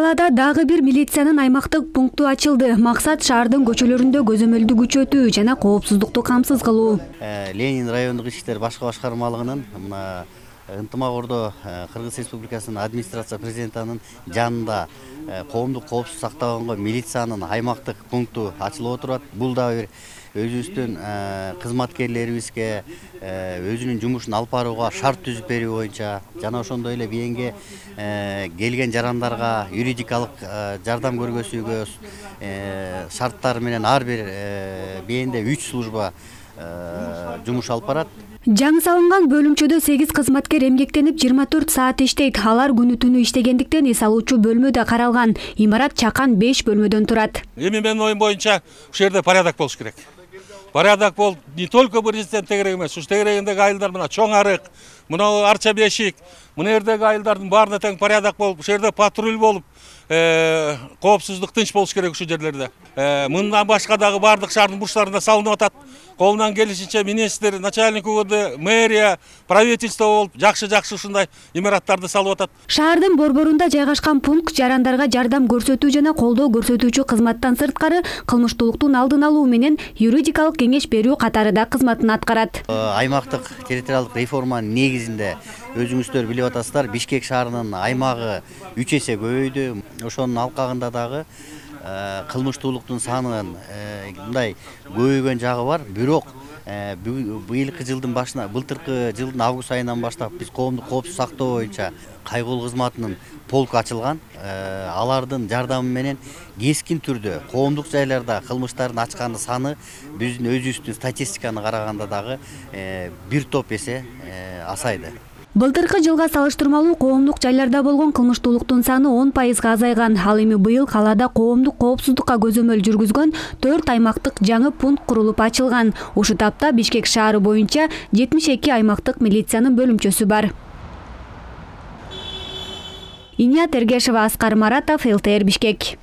калаада дагы бир милициянын аймактык пункту ачылды. Максат шаардын көчөлөрүндө көзөмөлдү күчөтүү жана коопсуздукту камсыз кылуу. Ленин райондук иштер башкы башкармалыгынын мына ынтымак ордо Кыргыз Республикасынын администрация президентинин жанында коомдук коопсуздук сактаганга милициянын аймактык пункту ачылып отурат. Бул да бир өзүбүздүн кызматкерлерибизге өзүнүн жумушун алып барууга шарт түзүп берүү боюнча жана ошондой эле бийинге келген жарандарга юридикалык жардам көргөзүүгө шарттары менен ар бир бийинде 3 служба жумуш алып барат. Жаңы салынган бөлүмчөдө 8 кызматкер эмгектенип 24 саат иштейт. Алар күнү түнү иштегендиктен эс алуучу бөлмө да каралган. Имарат чакан 5 бөлмөдөн турат. Эми менин оюм боюнча ушул жерде порядок болуш керек. Порядок бол не только президент тегерек эмес, ушу тегерегиндеги айылдар мына чоң арык, мына арча бешик, мына жердеги айылдардын баарына тең порядок болуп, ушул жерде патруль болуп, коопсуздук тынч болуш керек ушул жерлерде. Мындан башка дагы бардык шаардын бурчтарында салынып атат. Колунан келишинче министр, начальник УВД, мэрия, правительство болуп жакшы ушундай имараттарды салып атат. Шаардын борборунда жайгашкан пункт жарандарга жардам көрсөтүү жана колдоо көрсөтүүчү кызматтан сырткары кылмыштуулуктун алдын алуу менен юридикалык кеңеш берүү катары да кызматын аткарат. Аймактык территориалдык реформанын негизинде өзүңүздөр билип атасыздар, Бишкек шаарынын аймагы 3 эсе көбөйдү. Ошонун алкагында дагы кылмыштуулуктун санынын мындай көбөйгөн жагы бар. Бирок быйылкы жылдын башына, былтыркы жылдын август айынан баштап биз коомдук коопсуздук сактоо боюнча кайгылуу кызматынын полк ачылган. Алардын жардамы менен кескин түрдө коомдук жайларда кылмыштардын ачкан саны биздин өзүбүздүн статистиканы караганда дагы бир топ эсе азайды. Былтыркы жылга салыштырмалуу коомдук жайларда болгон кылмыштуулуктун саны 10% азайган. Ал эми быйыл калаада коомдук коопсуздукка көзөмөл жүргүзгөн 4 аймактык жаңы пункт курулуп ачылган. Ушул тапта Бишкек шаары боюнча 72 аймактык милициянын бөлүмчөсү бар. Иния Тергешева, Аскар Маратов, ЛТР Бишкек.